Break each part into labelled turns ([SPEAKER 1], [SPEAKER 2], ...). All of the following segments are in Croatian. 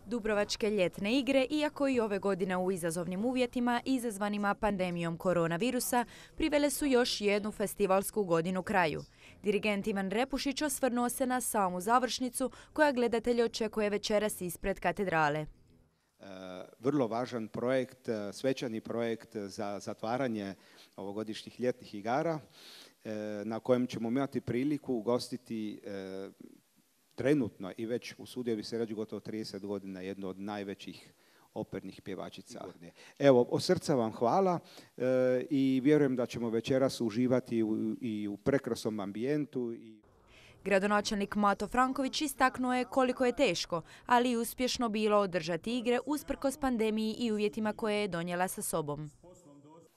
[SPEAKER 1] Dubrovačke ljetne igre, iako i ove godine u izazovnim uvjetima izazvanima pandemijom koronavirusa, privele su još jednu festivalsku godinu kraju. Dirigent Ivan Repušić osvrnuo se na samu završnicu koja gledatelje očekuje večeras ispred katedrale.
[SPEAKER 2] Vrlo važan projekt, svečani projekt za zatvaranje ovogodišnjih ljetnih igara na kojem ćemo imati priliku ugostiti trenutno i već usudio bi se reći gotovo 30 godina jednu od najvećih opernih pjevačica. Evo, od srca vam hvala i vjerujem da ćemo večeras uživati i u prekrasnom ambijentu.
[SPEAKER 1] Gradonačelnik Mato Franković istaknuo je koliko je teško, ali i uspješno bilo održati igre usprkos pandemiji i uvjetima koje je donijela sa sobom.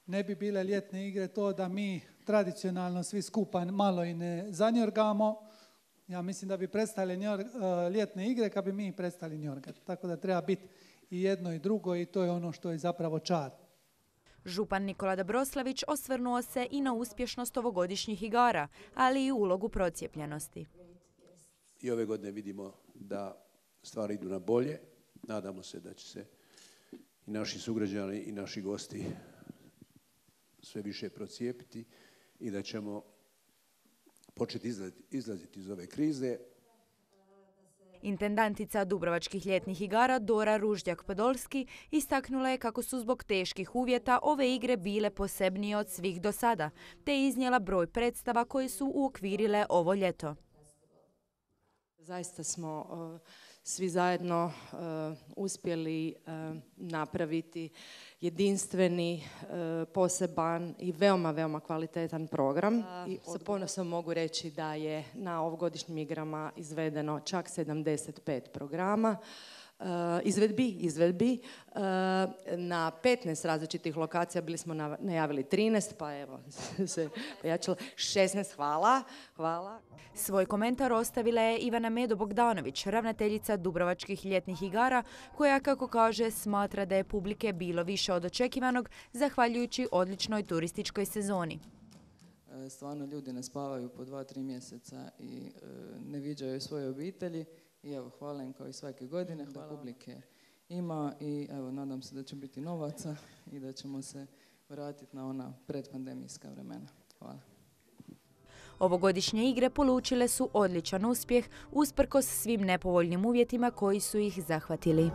[SPEAKER 3] Ne bi bile ljetne igre to da mi tradicionalno svi skupa malo i ne zanjorgamo. Ja mislim da bi prestali ljetne igre kad bi mi prestali njorgati. Tako da treba biti i jedno i drugo i to je ono što je zapravo čar.
[SPEAKER 1] Župan Nikola Dobroslavić osvrnuo se i na uspješnost ovogodišnjih igara, ali i ulogu procijepljenosti.
[SPEAKER 4] I ove godine vidimo da stvari idu na bolje. Nadamo se da će se i naši sugrađani i naši gosti sve više procijepiti i da ćemo početi izlaziti iz ove krize.
[SPEAKER 1] Intendantica Dubrovačkih ljetnih igara Dora Ruždjak-Podolski istaknula je kako su zbog teških uvjeta ove igre bile posebnije od svih do sada, te je iznijela broj predstava koje su uokvirile ovo ljeto.
[SPEAKER 5] Zaista smo svi zajedno uspjeli napraviti jedinstveni, poseban i veoma, veoma kvalitetan program. I sa ponosom mogu reći da je na ovogodišnjim igrama izvedeno čak 75 programa. Izvedbi na 15 različitih lokacija, bili smo najavili 13, pa evo se pojačalo 16, hvala.
[SPEAKER 1] Svoj komentar ostavila je Ivana Medo-Bogdanović, ravnateljica Dubrovačkih ljetnih igara, koja, kako kaže, smatra da je publike bilo više od očekivanog, zahvaljujući odličnoj turističkoj sezoni.
[SPEAKER 6] Stvarno ljudi ne spavaju po 2-3 mjeseca i ne viđaju svoje obitelji. I evo, hvala im kao i svake godine, da publike ima i evo, nadam se da će biti novaca i da ćemo se vratiti na ona predpandemijska vremena. Hvala.
[SPEAKER 1] Ovogodišnje igre polučile su odličan uspjeh usprkos svim nepovoljnim uvjetima koji su ih zahvatili.